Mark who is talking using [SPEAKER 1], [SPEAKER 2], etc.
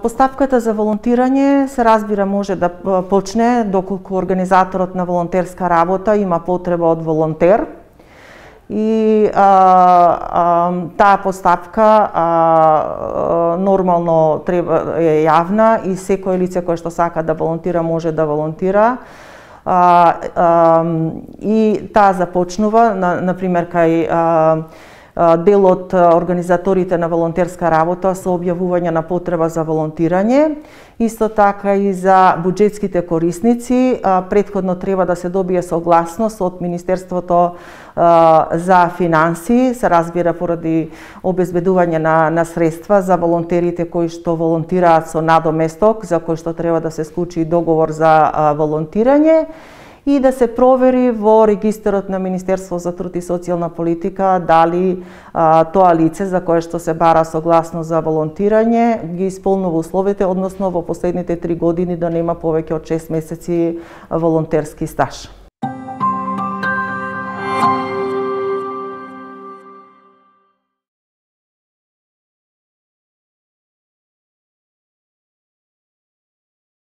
[SPEAKER 1] Постапката за волонтирање се разбира може да почне доколку организаторот на волонтерска работа има потреба од волонтер. И таа постапка нормално е јавна и секој лице кој што сака да волонтира може да волонтира. И таа започнува, например, кај дел од организаторите на волонтерска работа со објавување на потреба за волонтирање. Исто така и за буџетските корисници, претходно треба да се добие согласност од Министерството за финансии, се разбира поради обезбедување на средства за волонтерите кои што волонтираат со надоместок, за кој што треба да се склучи договор за волонтирање, и да се провери во регистарот на Министерство за труд и социјална политика дали тоа лице за кое што се бара согласност за волонтирање ги исполнува условите, односно во последните 3 години да нема повеќе од 6 месеци волонтерски стаж.